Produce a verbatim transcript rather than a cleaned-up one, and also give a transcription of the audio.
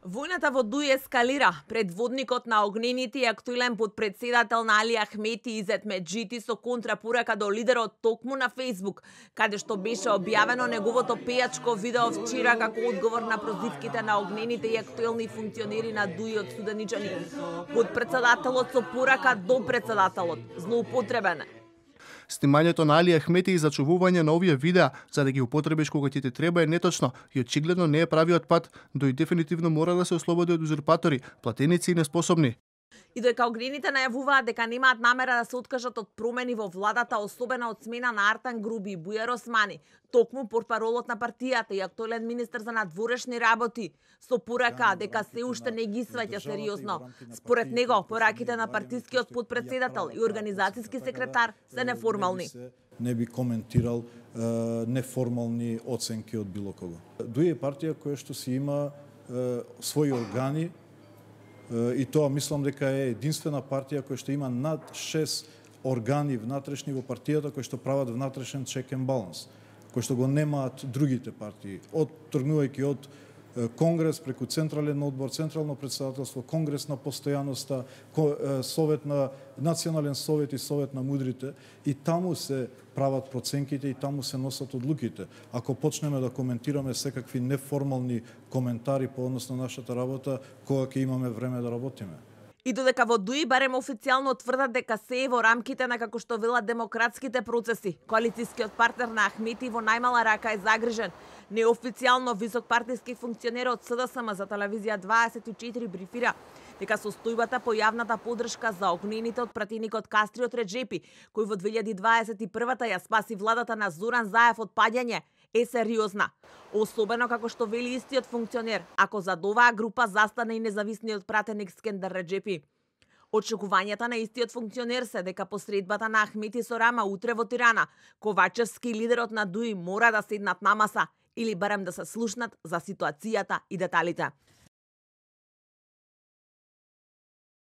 Војната во Дуи ескалира. Предводникот на огнените и актуелен подпредседател на Али Ахмети Изет Меджити со контрапорака до лидерот токму на Facebook, каде што беше објавено неговото пејачко видео вчера како одговор на прозивките на огнените и актуелни функционери на Дуи од суданичани. Подпредседателот со порака до председателот злоупотребен. Снимањето на Али Ахмети и зачувување на овие видеа за да ги употребиш кога ти те треба е неточно и очигледно не е правиот пат, дои дефинитивно мора да се ослободи од узурпатори, платеници и неспособни. И дека огнените најавуваат дека немаат намера да се откажат од промени во владата, особено од смена на Артан Груби и Бујар Османи, токму портпаролот на партијата и актуелен министер за надворешни работи, со порака дека се уште не ги сваќа сериозно. Според него, пораките на партискиот подпредседател и организацијски секретар се неформални. Не би коментирал е, неформални оценки од било кого. Дуи е партија која што си има е, своји органи, и тоа мислам дека е единствена партија која што има над шест органи внатрешни во партијата кои што прават внатрешен чек енд баланс, кои што го немаат другите партии, од тргнувајќи од Конгрес преку Централен одбор, Централно председателство, Конгрес на постојаноста, Совет на Национален совет и Совет на мудрите, и таму се прават проценките и таму се носат одлуките. Ако почнеме да коментираме секакви неформални коментари по однос на нашата работа, кога ќе имаме време да работиме. И додека во Дуи барем официјално тврдат дека се е во рамките на, како што велат, демократските процеси, коалицијскиот партнер на Ахмети во најмала рака е загрижен. Неофицијално висок партиски функционер од СДСМ за телевизија дваесет и четири брифира дека состојбата по јавната поддршка за огнените од пратеникот Кастриот Реджепи, кој во две илјади дваесет и прва ја спаси владата на Зоран Заев од паѓање, е сериозна. Особено како што вели истиот функционер, ако зад оваа група застане и независниот пратеник Скендер Реджепи. Очекувањата на истиот функционер се дека посредбата на Ахмети со Рама утре во Тирана, Ковачевски, лидерот на Дуи, мора да седнат на маса или барем да се слушнат за ситуацијата и деталите.